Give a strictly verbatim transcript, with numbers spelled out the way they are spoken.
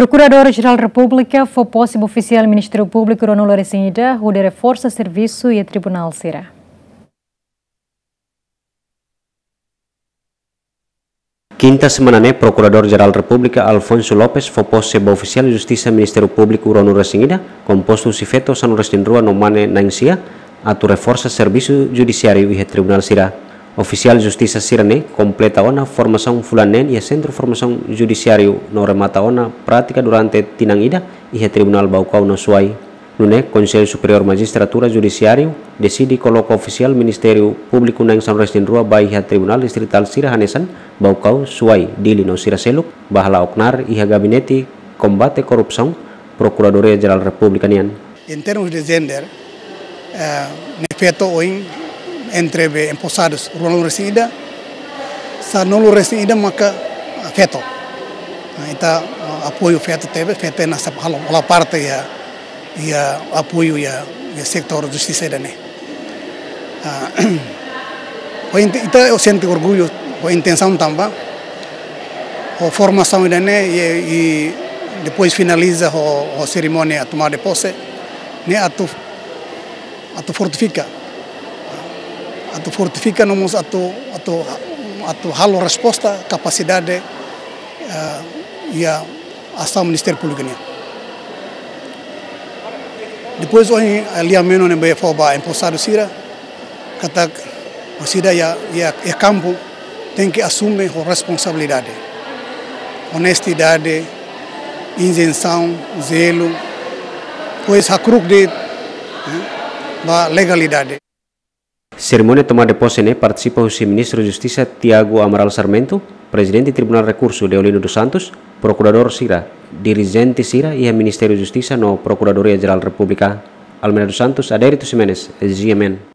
Prokuradór-Jerál Repúblika fó pose ba ofisiál Ministériu Públiku ruanulu-resin-ida hodi reforsa servisu iha tribunál sira. Kinta semana ne'e, Prokuradór-Jerál Repúblika Alfonso Lopes fó pose ba ofisiál Justisa Ministériu Públiku ruanulu-resin-ida, kompostu husi feto sanulu-resin-rua no mane na'in-sia, atu reforsa servisu judisiáriu iha tribunál sira. Ofisiál justisa sira-ne'e kompleta ona formasaun fulan neen iha Sentru Formasaun Judisiáriu no remata ona prátika durante tinan ida iha Tribunál Baucau no Suai. Nune'e, Konsellu Superiór Majistratura Judisiáriu deside koloka ofisiál Ministériu Públiku na'in sanulu-resin-rua ba iha tribunál distritál sira hanesan Baucau, Suai, Dili no sira seluk, ba hala'o knaar iha Gabinete Kombate Korrupsaun, Prokuradoria-Jerál Repúblika nian. Em termos de gênero, eh, ne'e feto ohin entre be emposadus ruanulu-resin-ida, sanulu-resin-ida maka, ah, feto. Nah, ita, ah, apoiu feto tebe, feto na sap halo, hola parte iha, iha apoiu iha, iha setór justisa ida-ne'e. Ah, ho inte-, ita sente orgullu, ho intensaun tanba, ho formasaun ida-ne'e, i, i depois finaliza ho, ho serimónia tomada de posse, ne'e atu, atu fortifika. Atu fortifika no mós atu, atu, atu halo resposta, kapasidade, eh, iha asaun Ministériu Públiku nian. Depois, ohin, eh, lia-menon ne'ebé fó ba emposadu sira, katak, orsida iha, iha, iha kampu, tenke asume ho responsabilidade, onestidade, izensaun, zelu, depois hakru'uk de'it, eh, ba legalidade. Serimónia tomada de posse ne'e partisipa husi Ministru Justisa Tiago Amaral Sarmento, Prezidente Tribunál Rekursu Deolino dos Santos, prokuradór sira, dirijente sira iha Ministériu Justisa no Prokuradoria-Jerál Repúblika. Almeida dos Santos, Adérito Ximenes, G M N.